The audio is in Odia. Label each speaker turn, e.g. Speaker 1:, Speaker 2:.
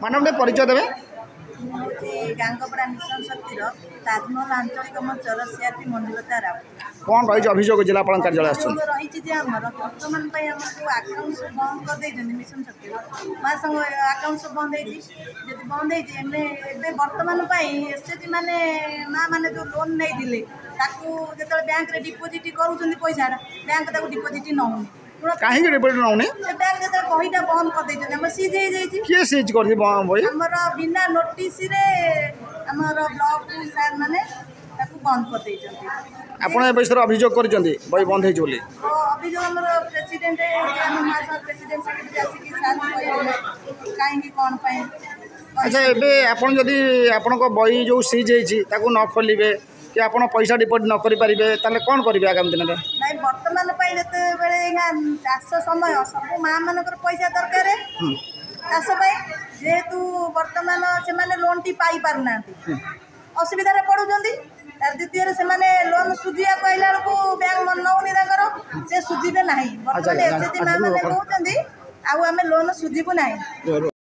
Speaker 1: ମ୍ୟାଡ଼ାମ୍, ଟିକେ ପରିଚୟ ଦେବେ।
Speaker 2: ମୁଁ ହେଉଛି ଗାଙ୍ଗପଡ଼ା ମିଶନ ଶକ୍ତିର ତାଜମହଲ ଆଞ୍ଚଳିକ ମଞ୍ଚର ସିଆର୍ପି ମଞ୍ଜୁଲତା ରାଉତ।
Speaker 1: କ'ଣ ରହିଛି ଅଭିଯୋଗ, ଜିଲ୍ଲାପାଳଙ୍କ କାର୍ଯ୍ୟାଳୟ ଆସିଛନ୍ତି?
Speaker 2: ଅଭିଯୋଗ ରହିଛି ଯେ ଆମର ବର୍ତ୍ତମାନ ପାଇଁ ଆମର ଯେଉଁ ଆକାଉଣ୍ଟ ସବୁ ବନ୍ଦ କରିଦେଇଛନ୍ତି, ମିଶନ ଶକ୍ତିର ମହାସଂଘ ଆକାଉଣ୍ଟ ସବୁ ବନ୍ଦ ହେଇଛି। ଯଦି ବନ୍ଦ ହେଇଛି, ଆମେ ଏବେ ବର୍ତ୍ତମାନ ପାଇଁ ଏସ୍ ଏଚ୍ ଜି ମାନେ, ମା ମାନେ ଯେଉଁ ଲୋନ୍ ନେଇଥିଲେ, ତାକୁ ଯେତେବେଳେ ବ୍ୟାଙ୍କରେ ଡିପୋଜିଟ୍ କରୁଛନ୍ତି ପଇସାଟା, ବ୍ୟାଙ୍କ ତାକୁ ଡିପୋଜିଟ୍ ନେଉନି।
Speaker 1: କାହିଁକି ଡିପୋଜିଟ୍ ନେଉନି?
Speaker 2: ସେ ବ୍ୟାଙ୍କ ଯେତେବେଳେ ବହିଟା ବନ୍ଦ କରିଦେଇଛନ୍ତି, ଆମର ସିଜ୍ ହେଇଯାଇଛି।
Speaker 1: କିଏ ସିଜ୍ କରିଛି ବହି?
Speaker 2: ଆମର ବିନା ନୋଟିସରେ ଆମର ବ୍ଲକ ସାର୍ ମାନେ ତାକୁ ବନ୍ଦ କରିଦେଇଛନ୍ତି।
Speaker 1: ଆପଣ ଏ ବିଷୟରେ ଅଭିଯୋଗ କରିଛନ୍ତି, ବହି ବନ୍ଦ ହେଇଛି ବୋଲି?
Speaker 2: ଅଭିଯୋଗ ଆମର ପ୍ରେସିଡେଣ୍ଟ, ଆମ ମହାସଂଘ ପ୍ରେସିଡେଣ୍ଟ ସେକ୍ରେଟାରୀ ଆସିକି ସାର୍ କହିଲେ କାହିଁକି, କ'ଣ ପାଇଁ।
Speaker 1: ଆଚ୍ଛା, ଏବେ ଆପଣ ଯଦି ଆପଣଙ୍କ ବହି ଯେଉଁ ସିଜ୍ ହେଇଛି ତାକୁ ନ ଖୋଲିବେ କି ଆପଣ ପଇସା ଡିପୋଜିଟ୍ ନ କରିପାରିବେ, ତାହେଲେ କ'ଣ କରିବେ ଆଗାମୀ ଦିନରେ?
Speaker 2: ନାଇଁ, ବର୍ତ୍ତମାନ ପାଇଁ ଯେତେବେଳେ ଏଇନା ଚାଷ ସମୟ, ସବୁ ମା ମାନଙ୍କର ପଇସା ଦରକାର ଚାଷ ପାଇଁ। ଯେହେତୁ ବର୍ତ୍ତମାନ ସେମାନେ ଲୋନ୍ଟି ପାଇପାରୁନାହାନ୍ତି, ଅସୁବିଧାରେ ପଡ଼ୁଛନ୍ତି। ତାର ଦ୍ୱିତୀୟରେ ସେମାନେ ଲୋନ୍ ସୁଝିବାକୁ ଆଇଲା ବେଳକୁ ବ୍ୟାଙ୍କ ନେଉନି ତାଙ୍କର, ସେ ସୁଝିବେ ନାହିଁ। ବର୍ତ୍ତମାନ ଏସ୍ ଏଚ୍ ଜି ମା ମାନେ କହୁଛନ୍ତି, ଆଉ ଆମେ ଲୋନ୍ ସୁଝିବୁ ନାହିଁ।